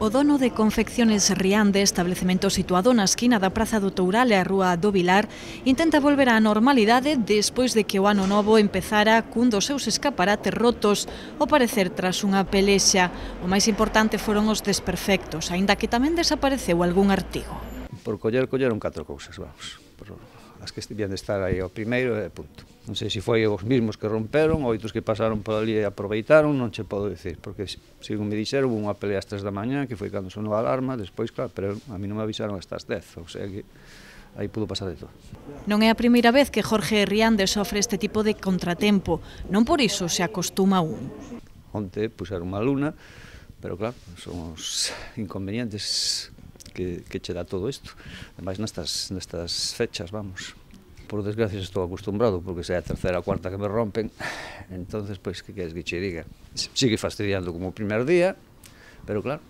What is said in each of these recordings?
O dono de Confecciones Riande, establecemento situado na esquina da Praza do Toural e a Rúa do Vilar, intenta volver á normalidade despois de que o ano novo empezara cun dos seus escaparates rotos, ao parecer tras unha pelexa. O máis importante foron os desperfectos, aínda que tamén desapareceu algún artigo. Por colleron 4 cousas, vamos. As que estivían de estar aí ao primeiro e punto. Non sei se foi os mismos que romperon ou outros que pasaron por ali e aproveitaron, non che podo dicir, porque, según me dixeron, hubo unha pelea ás 3 da mañá, que foi cando sonou a alarma, despois, claro, pero a mí non me avisaron hasta as 10, o sea que aí pudo pasar de todo. Non é a primeira vez que Jorge Riande sofre este tipo de contratempo, non por iso se acostuma aún. Onte puxeron unha luna, pero claro, son os inconvenientes que che dá todo isto, ademais nestas fechas, vamos. Por desgracia estou acostumbrado, porque se é a terceira ou cuarta que me rompen, entonces, pois, que queres que che diga? Sigue fastidiando como o primer día, pero claro,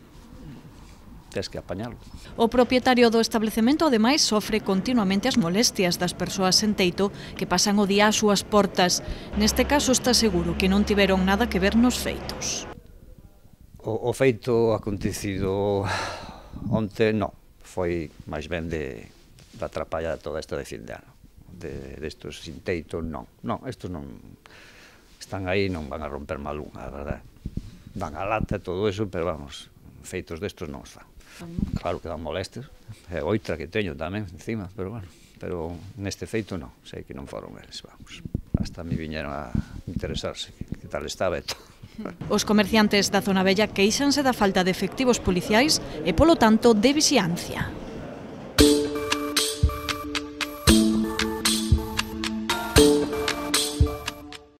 tens que apañalo. O propietario do establecemento, ademais, sofre continuamente as molestias das persoas sen teito que pasan o día ás súas portas. Neste caso está seguro que non tiveron nada que ver nos feitos. O feito acontecido onte non, foi máis ben da trapalla toda esta de fin de ano. Destos sin teito, non, estos non están aí, non van a romper mal unha, a verdade. Dan a lata e todo eso, pero vamos, feitos destos non os fan. Claro que dan molestes, é outra que teño tamén encima, pero bueno, pero neste feito non, sei que non foron eles, vamos. Hasta me viñeron a interesarse, que tal estaba e todo. Os comerciantes da zona vella queixanse da falta de efectivos policiais e, polo tanto, de vixiancia.